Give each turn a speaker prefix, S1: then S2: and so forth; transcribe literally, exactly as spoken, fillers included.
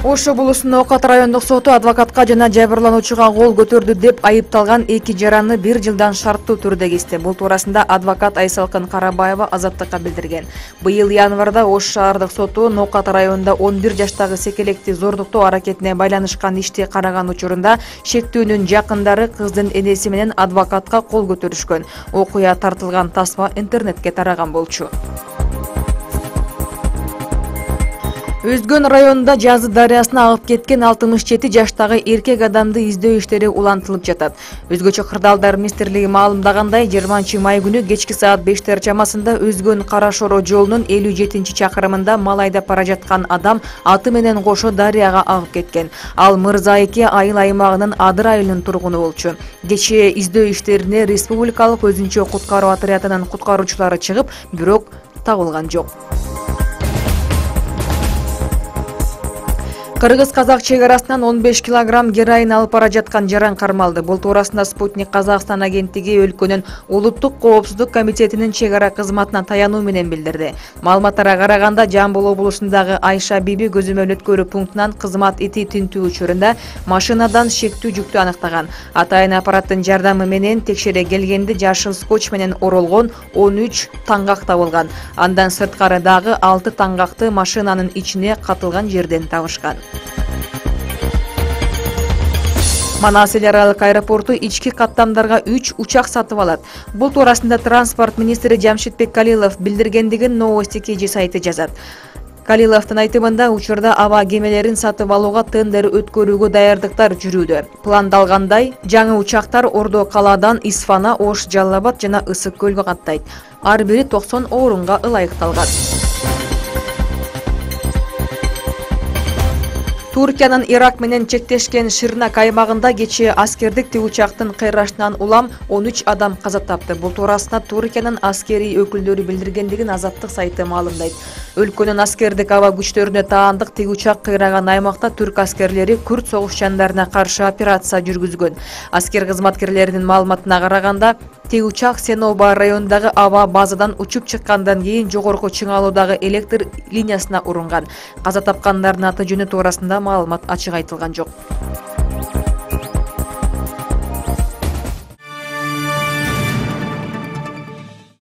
S1: Ош облусунун Окат райондук соту адвокатка жана жабырлануучуга кол көтөрдү деп айыпталган эки жараны бир жылдан шарттуу түрдө кести. Бул туурасында адвокат Айсалкын Карабаева Азаттыкка билдирген. Быйыл январда Ош шаардык соту Окат районунда он бир жаштагы секелекти зордуктоо аракетине байланышкан ишти караган учурунда шектүүнүн жакындары кыздын энеси менен адвокатка кол көтөрүшкөн. Окуя тартылган тасма интернетке тараган болчу. Өзгөн районунда Жазы дарыясына агып кеткен алтымыш жети жаштагы эркек адамды издөө иштери улантылып жатат. Өзгөчө кырдаалдар министрлиги маалымдагандай, жыйырманчы май күнү кечки саат бештер чамасында Өзгөн Кара-Шоро жолунун элүү жетинчи чакырымында мал айдап бара жаткан адам аты менен кошо дарыяга агып кеткен. Ал Мырза эки айыл аймагынын Адыр айылынын тургуну болчу. Кечээ издөө иштерине республикалык өзүнчө куткаруу отрядынын куткаруучулары чыгып, бирок табылган жок. Кыргыз-казак чек арасынан он беш килограмм героин алып бара жаткан жаран кармалды. Бул туурасында Спутник Казакстан агенттиги өлкөнүн улуттук коопсуздук комитетинин чек ара кызматына таянуу менен билдирди. Маалыматтарга караганда, Жамбыл облусундагы Айша Биби көзөмөл өткөрүү пунктунан кызмат ити тинтүү учурунда машинадан шектүү жүктү аныктаган. Атайын аппараттын жардамы менен текшере келгенде жашыл скотч менен оролгон он үч таңгак табылган. Андан сырткары дагы алты таңгакты машинанын ичине катылган жерден табышкан. Манас эл аралык аэропорту ички каттамдарга үч учак сатып алат. Бул туурасында транспорт министри Жамшитбек Калилов билдиргендигин Новости кей жи сайты жазат. Калиловдун айтымында, учурда аба кемелерин сатып алууга тендер өткөрүүгө даярдыктар жүрүүдө. Пландалгандай, жаңы учактар Ордо калаадан Исфана, Ош, Жалал Абад жана Ысык көлгө каттайт. Ар бири токсон орунга ылайыкталган. Туркиянын Ирак менен чектешкен Ширнак аймагында кечээ аскердик тигучактын кыйрашынан улам он үч адам каза тапты. Бул туурасында Туркиянын аскерий өкүлдөрү билдиргендигин Азаттык сайты маалымдайт. Өлкөнүн аскердик аба күчтөрүнө таандык тигучак кыйраган аймакта түрк аскерлери күрд согушчандарына каршы операция жүргүзгөн. Аскер кызматкерлеринин маалыматына караганда, тигучак Сеноба районундагы аба базадан учуп чыккандан кийин жогорку чыңалуудагы электр линиясына урунган. Каза тапкандардын аты жөнү туурасында маалымат ачык айтылган жок.